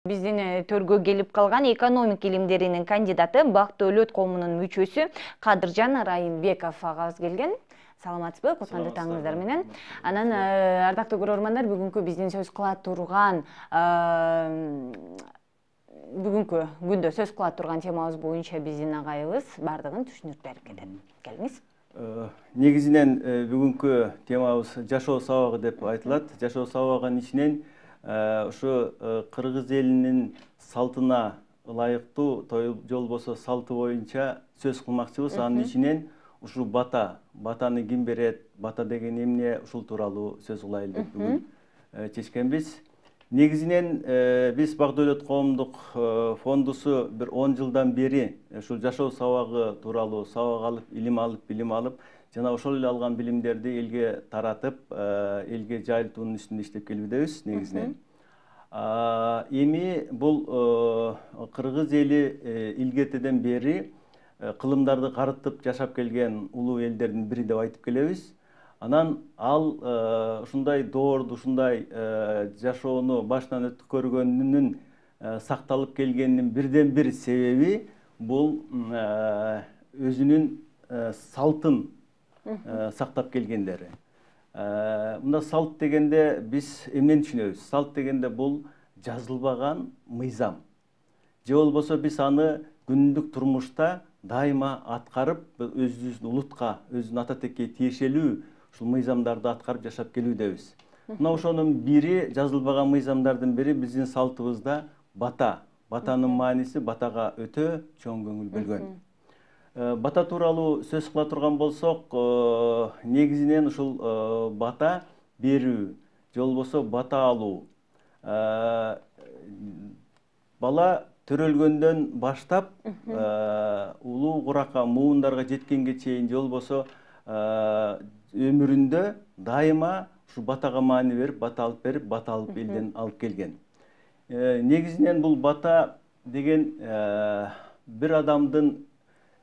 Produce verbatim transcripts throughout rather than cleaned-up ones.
Биздин төргө келип калган экономика илимдеринин кандидаты Бактыөлөт коомунун мүчөсү Кадыржан Райымбеков агабыз келген. Саламатсызбы? Кутмандуу таңыңыздар менен. Анан ардактуу көрөрмандар, бүгүнкү биздин сөз кыла турган бүгүнкү күндө сөз кыла турган темабыз боюнча биздин агайыбыз бардыгын түшүнүп берип кетет. Келиңиз. Негизинен бүгүнкү темабыз жашоо сабагы деп айтылат. Жашоо сабагынын ичинен ушу кыргыз элинин салтына ылайыктуу, той болбосо салты боюнча сөз кылмакчыбыз. Анын ичинен ушул бата, батаны ким берет, бата деген эмне, ушул тууралуу сөз кылайлы деп бүгүн чечкенбиз. Негизинен биз Бактыөлөт коомдук фондусу бир он жылдан бери ушул жашоо сабагы тууралуу сабак алып, илим алып, билим алып, жана ошол эле алган билимдерди элге таратып, элге жайылтуунун үстүндө иштеп келүүдөбүз негизинен. Эми бул кыргыз эли илгертеден бери кылымдарды карытып жашап келген улуу элдердин бири деп айтып келебиз. Анан ал ушундай доорду, ушундай жашоону башынан өткөргөнүнүн сакталып келгенинин бирден бир себеби бул өзүнүн салтын сактап келгендери. Мында салт дегенде биз эмнени түшүнөбүз? Салт дегенде бул жазылбаган мыйзам. Же болбосо биз аны күндүк турмушта дайыма аткарып, өзүбүздүн улутка, өзүнүн ата текке тиешелүү ушул мыйзамдарды аткарып жашап келүүдөбүз. Мына ошонун бири, жазылбаган мыйзамдардын бири биздин салтыбызда бата. Батанын мааниси батага өтө чоң көңүл бөлгөн. Бата тууралуу сөз кыла турган болсок, негизинен ушул бата берүү, же болбосо бата алуу. Бала төрөлгөндөн баштап улуу куракка, муундарга жеткенге чейин, же болбосо өмүрүндө дайыма ушу батага маани берип, бата алып берип, бата алып элден алып келген. Негизинен бул бата деген бир адамдын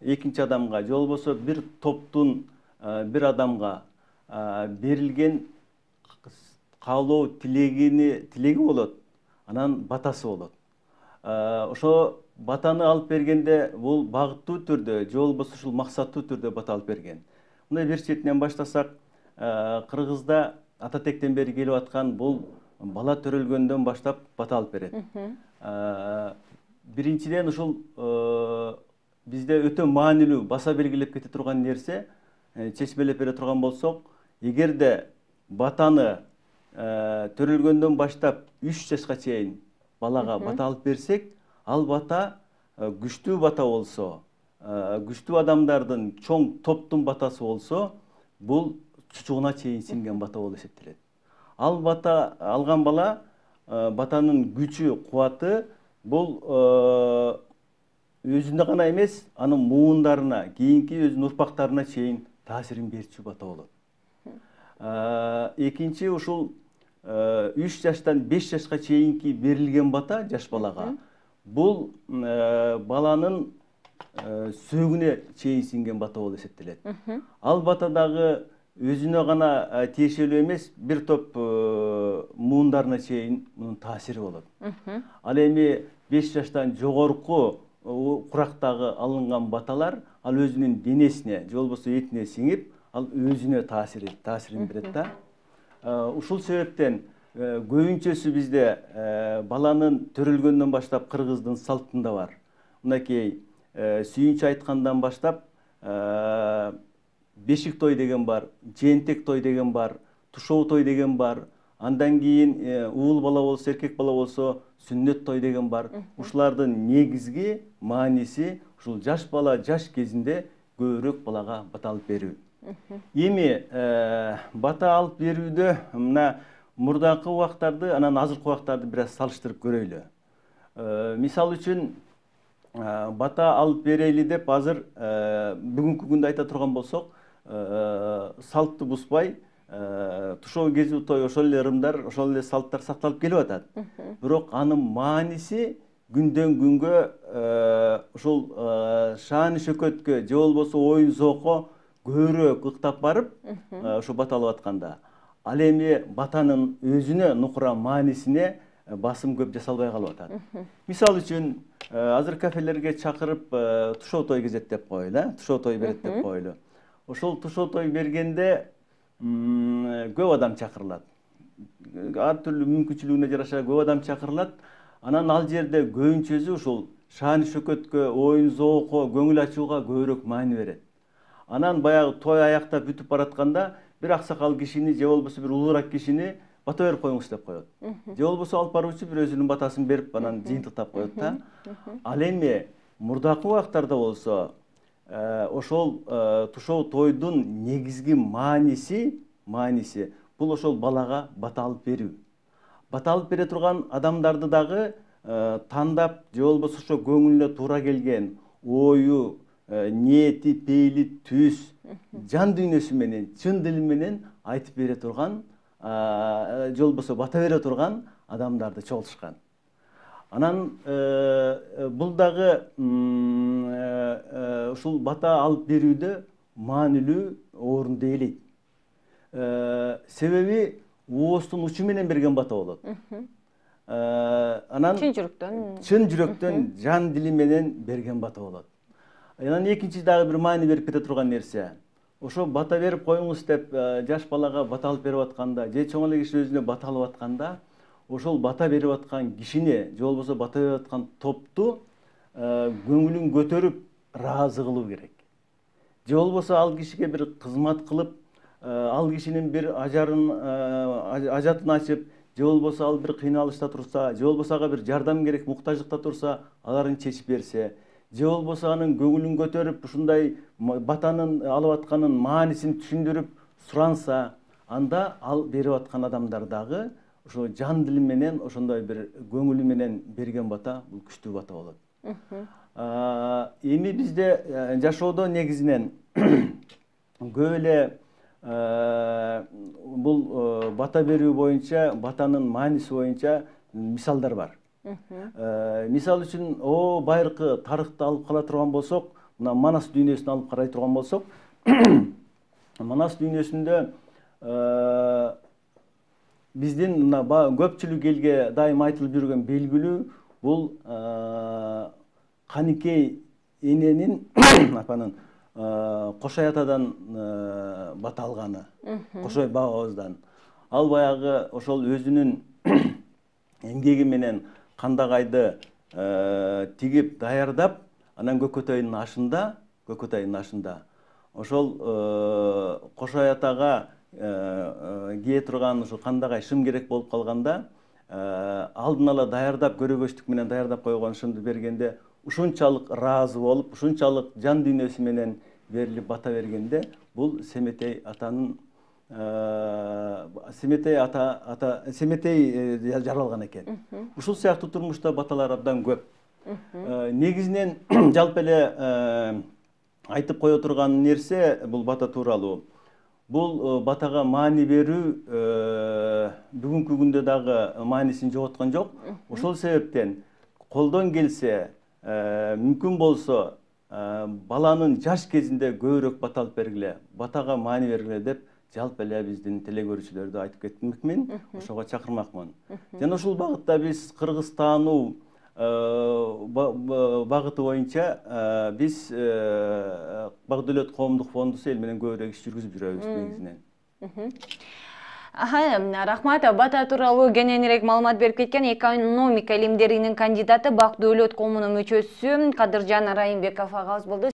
экинчи адамга, же болбосо бир топтун бир адамга берилген каалоо тилегини тилеги болот, анан батасы болот. Ошо батаны алып бергенде бул багыттуу түрдө, же болбосо ушул максаттуу түрдө бата алып берген. Мындай бир четинен баштасак, кыргызда ата тектен бери келип аткан бул бала төрөлгөндөн баштап бата алып берет. Биринчиден ушул бизде өтө маанилүү, баса белгилеп кете турган нерсе, чечмелеп бере турган болсок, эгерде батаны төрөлгөндөн баштап үч жашка чейин балага бата алып берсек, ал бата күчтүү бата болсо, күчтүү адамдардын чоң топтун батасы болсо, бул чучугуна чейин сиңген бата болуп эсептелет. Ал бата алган бала, батанын күчү, кубаты бул өзүнө гана эмес, анын муундарына, кийинки өзүнүн урпактарына чейин таасирин берчү бата болот. Экинчи, ушул үч жаштан беш жашка чейинки берилген бата жаш балага, бул баланын сөөгүнө чейин сиңген бата болуп эсептелет. Ал бата дагы өзүнө гана тиешелүү эмес, бир топ муундарына чейин мунун таасири болот. Ал эми беш жаштан жогорку курактагы алынган баталар ал өзүнүн денесине, же болбосо этине сиңип, ал өзүнө таасир таасирин берет да. Ушул себептен көбүнчөсү бизде баланын төрөлгөндөн баштап кыргыздын салтында бар. Мынакей сүйүнчү айткандан баштап бешик той деген бар, жээнтек той деген бар, тушоо той деген бар. Андан кийин уул бала болсо, эркек бала болсо сүннөт той деген бар. Ушулардын негизги мааниси ушул жаш бала жаш кезинде көбүрөөк балага бата алып берүү. Эми бата алып берүүдө мына мурдакы убактарды, анан азыркы убактарды бир аз салыштырып көрөйлү. Мисал үчүн бата алып берели деп азыр бүгүнкү күндө айта турган болсок, салтты бузбай, тушоо кезүү той, ошол эле ырымдар, ошол эле салттар сакталып келип атат. Бирок анын мааниси күндөн күнгө ушул шааны шөкөткө, же болбосо оюн зоокко көбүрөөк ыктап барып, ушу бата алып атканда, ал эми батанын өзүнө нукура маанисине басым көп жасалбай калып атат. Мисалы үчүн азыр кафелерге чакырып тушоо той кезет деп коелу, э, тушоо той берет деп коелу. Ошол тушоо той бергенде көп адам чакырылат. Ар түрлүү мүмкүнчүлүгүнө жараша көп адам чакырылат. Анан ал жерде көбүнчөсү ушул шааны шөкөткө, оюн зоокко, көңүл ачууга көбүрөөк маани берет. Анан баягы той аяктап бүтүп баратканда бир аксакал кишини же болбосо бир улуураак кишини бата берип коюңуз деп коет. Же болбосо алып баруучу бир өзүнүн батасын берип анан жыйынтыктап коет да. Ал эми мурдакы убактарда болсо ошол тушоо тойдун негизги мааниси, мааниси бул ошол балага бата алып берүү. Бата алып бере турган адамдарды дагы тандап, же болбосо ошо көңүлүнө туура келген ою, ниети, пейили, түз, жан дүйнөсү менен, чын дили менен айтып бере турган, же болбосо бата бере турган адамдарды чогултушкан. Анан бул дагы ушул бата алып берүүдө маанилүү орунду ээлейт. Себеби ооздун учу менен берген бата болот. Анан чын жүрөктөн, чын жүрөктөн, жан дили менен берген бата болот. Анан экинчи дагы бир маани берип кете турган нерсе. Ошо бата берип коюңуз деп жаш балага бата алып берип атканда, же чоң эле киши өзүнө бата алып атканда, ошол бата берип аткан кишини, же болбосо бата берип аткан топту көңүлүн көтөрүп, ыраазы кылуу керек. Же болбосо ал кишиге бир кызмат кылып, ал кишинин бир ажарын, ажатын ачып, же болбосо ал бир кыйналышта турса, же болбосо ага бир жардам керек, муктаждыкта турса, аларын чечип берсе, же болбосо анын көңүлүн көтөрүп, ушундай батанын алып атканын маанисин түшүндүрүп суранса, анда ал берип аткан адамдар дагы ошо жан дили менен, ошондой бир көңүлү менен берген бата бул күчтүү бата болот. Эми бизде жашоодо негизинен көп эле бул бата берүү боюнча, батанын мааниси боюнча мисалдар бар. Мисал үчүн, о байыркы тарыхты алып кала турган болсок, мына Манас дүйнөсүн алып карай турган болсок, Манас дүйнөсүндө биздин мына көпчүлүк элге дайым айтылып жүргөн белгилүү бул Каникей эненин апанын Кошой атадан бата алганы, Кошой бабабыздан. Ал баягы ошол өзүнүн эмгеги менен кандагайды тигип даярдап, анан Көкөтайдын ашында, Көкөтайдын ашында ошол Кошой атага кие турган ошо кандагай шым керек болуп калганда, алдын ала даярдап, көрөгөчтүк менен даярдап койгон шымды бергенде ушунчалык ыраазы болуп, ушунчалык жан дүйнөсү менен берилип бата бергенде, бул Семетей атанын Семетей ата ата Семетей жаралган экен. Ушул сыяктуу турмушта баталар абдан көп. Негизинен жалпы эле айтып кое турган нерсе бул бата тууралуу. Бул батага маани берүү бүгүнкү күндө дагы маанисин жоготкон жок. Ошол себептен колдон келсе, мүмкүн болсо баланын жаш кезинде көбүрөөк бата алып бергиле, батага маани бергиле деп жалпы эле биздин телегөрүүчүлөрдү айтып кетмекмин, ошого чакырмакмын. Жана ушул багытта биз кыргыз таануу багыты боюнча биз Багдөлөт коомдук фондусу эл менен көбүрөөк иш жүргүзүп жүрөбүз негизинен. Рахмат, бата тууралуу кененирээк маалымат берип кеткен экономика илимдеринин кандидаты Багдөлөт коомунун мүчөсү Кадыржан Райымбеков агабыз болду.